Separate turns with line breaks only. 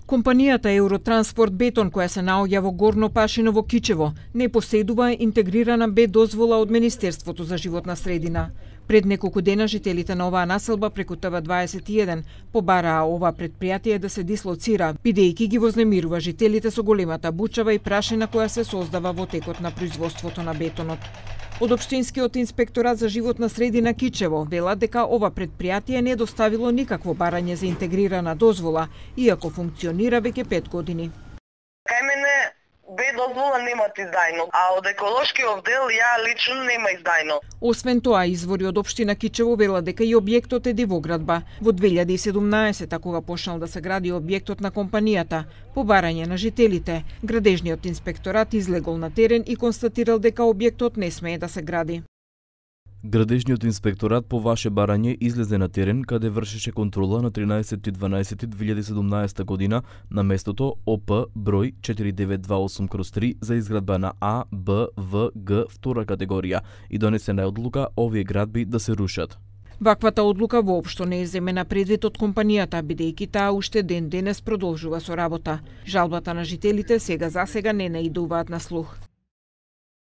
Компанијата Евротранспорт Бетон, која се наоѓа во Горно Пашиново Кичево, не поседува интегрирана Б дозвола од Министерството за животна средина. Пред неколку дена жителите на оваа населба преку ТВ21 побараа ова претпријатие да се дислоцира, бидејќи ги вознемирува жителите со големата бучава и прашина која се создава во текот на производството на бетонот. Од Општинскиот инспекторат за животна средина Кичево велат дека ова претпријатие не доставило никакво барање за интегрирана дозвола, иако функционира веќе 5 години.
Кај мене Б дозвола немат издајно, а од еколошкиот дел ја лично нема издајно.
Освен тоа, извори од Општина Кичево велат дека и објектот е дивоградба. Во 2017, кога почнал да се гради објектот на компанијата, по барање на жителите, градежниот инспекторат излегол на терен и констатирал дека објектот не смее да се гради.
Градежниот инспекторат по ваше барање излезе на терен каде вршеше контрола на 13.12.2017 година на местото ОП број 4928/3 за изградба на А, Б, В, Г втора категорија и донесена одлука овие градби да се рушат.
Ваквата одлука воопшто не е земена предвид од компанијата, бидејќи таа уште ден денес продолжува со работа. Жалбата на жителите сега не наидуваат на слух.